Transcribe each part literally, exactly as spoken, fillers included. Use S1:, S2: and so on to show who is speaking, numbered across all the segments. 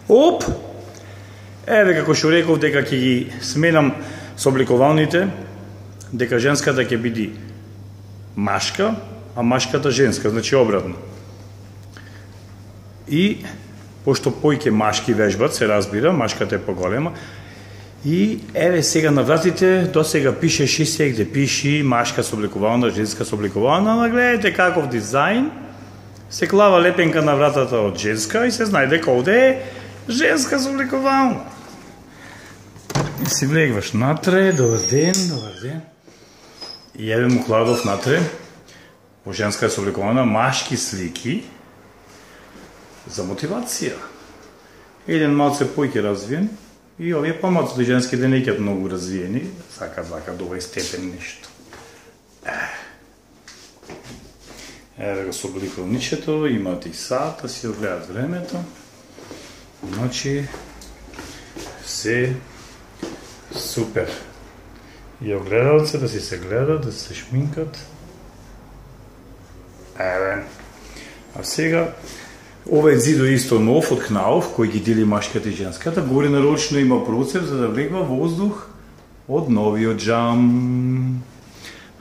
S1: Оп! Еве како што реков дека ќе ги сменам собликувалните, дека женската ќе биде машка, а машката женска, значи обратно. И пошто појќе машки вежбат, се разбира, машката е поголема. И еве сега на вратите, до сега пишеше сегде пиши машка собликувална, женска собликувална, ама гледате каков дизајн. Се клава лепенка на вратата од женска и се знае дека овде е женска собликувална. И си влегваш натре, добар ден, добар ден. И еве му кладов натре, во женска собликувална, машки слики за мотивација. Еден малце појќе развиен, и овие помалците женските не ќе многу развиени, сака сака до овој степен нешто. Еве го собликувалничето, имате и сат, да си огледат времето. Значи, се супер. И огледалце да си се гледат, да се шминкат. Еве. А сега, овој зидо исто нов од Кнаuf, кој ги дели машката и женската, горе нарочно има процеп за да влегва воздух од новиот джам.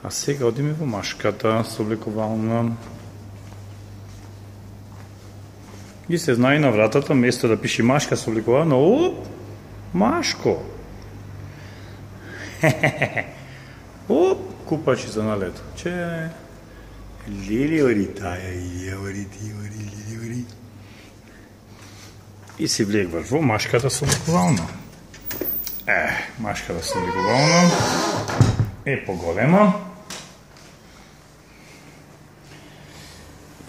S1: А сега одиме во машката собликувална. И се знае на вратата, место да пише машка собликувална, оп, машко. Оп, купачи за налето. Че, лили ори таја, ија ори ти ори, лили ори. И си влегваш во машката собликувална. Е, машката собликувална е поголема.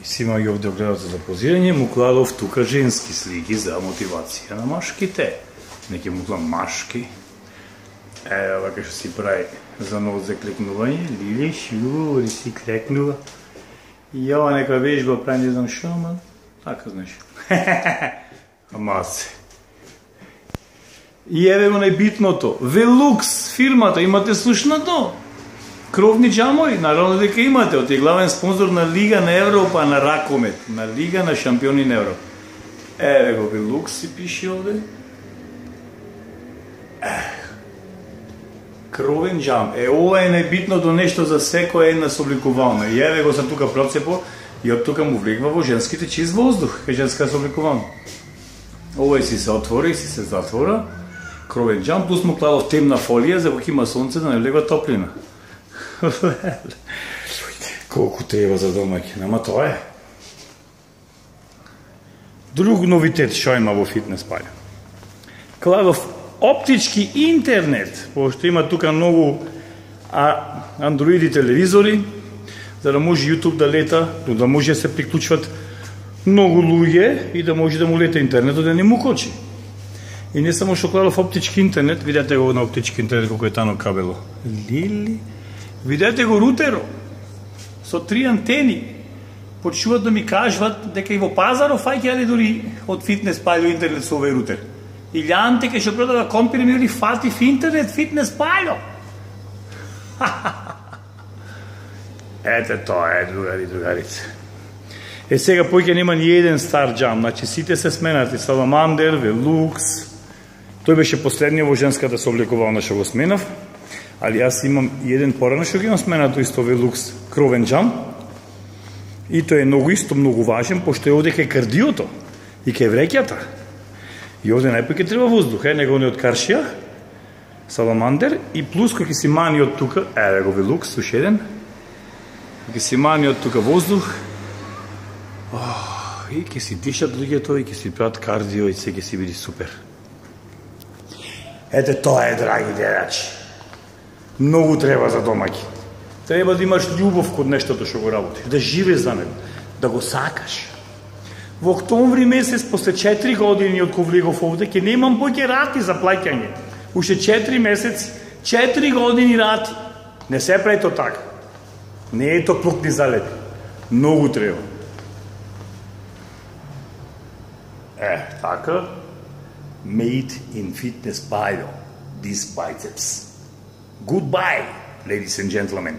S1: И си има и овде огледалце за позирање, му кладов тука женски слики за мотивација на машките. Неке му кладов машки. Е, вака што си прави за ново заклекнување. Лили, шу, ори си клекнува. И ова нека вежба прави не знам шо, ама така знаеш. Ама се. И еве го најбитното. Велукс фирмата, имате слушнато? Кровни джамови, наравно дека имате. Оти главен спонзор на Лига на Европа, на ракомет. На Лига на шампиони на Европа. Еве го Велукс си пише овде. Кровен джам. Е, ова е најбитното нешто за секоја една собликувална. И еве го са тука процепо и од тука му влегва во женските чист воздух. Кај женска собликувална. Овој си се отвори и си се затвора. Кровен джам, плюс му кладов темна фолија за кога има сонце да не влегва топлина. Колку треба за домаќин, ама тоа е. Друг новитет што има во фитнес паља. Кладов оптички интернет, пошто има тука многу а, андроиди телевизори, за да може YouTube да лета, но да може да се приклучват многу луѓе и да може да му лета интернетот да не му кочи. И не само што кладов оптички интернет, видете го на оптички интернет колку е тано кабело. Лили, видете го рутеро со три антени. Почнуваат да ми кажуваат дека и во пазаров фаќаат дури од фитнес пајло интернет со овој рутер. Или анте ке што продава компир ми фати в интернет фитнес пајло. Ете тоа е, другари, другарице. Е, сега поќе нема ни еден стар джам, значи сите се сменати, Саламандер, Велукс. Тој беше последниот во женската собликувална што го сменав, али јас имам и еден порано што ги имам сменато исто Велукс кровен джам. И тој е многу исто, многу важен, пошто е овде кај кардиото и кај вреќата. И овде најпоќе треба воздух, е, него не од Каршија, Саламандер, и плюс кој ќе си мани од тука, еве го Велукс, уште еден, ќе си мани од тука воздух, oh, и ќе си дишат луѓето, и ќе си прават кардио, и се ќе си биде супер. Ете тоа е, драги гледачи. Многу треба за домаќи. Треба да имаш љубов код нештото што го работиш, да живееш за него, да го сакаш. Во октомври месец, после четири години од кога влегов овде, ќе немам поќе рати за плаќање. Уште четири месеци, четири години рати. Не се прави то така. Не е то плук ни залети. Многу треба. Е, така. Made in Fitness Pile. These biceps. Goodbye, ladies and gentlemen.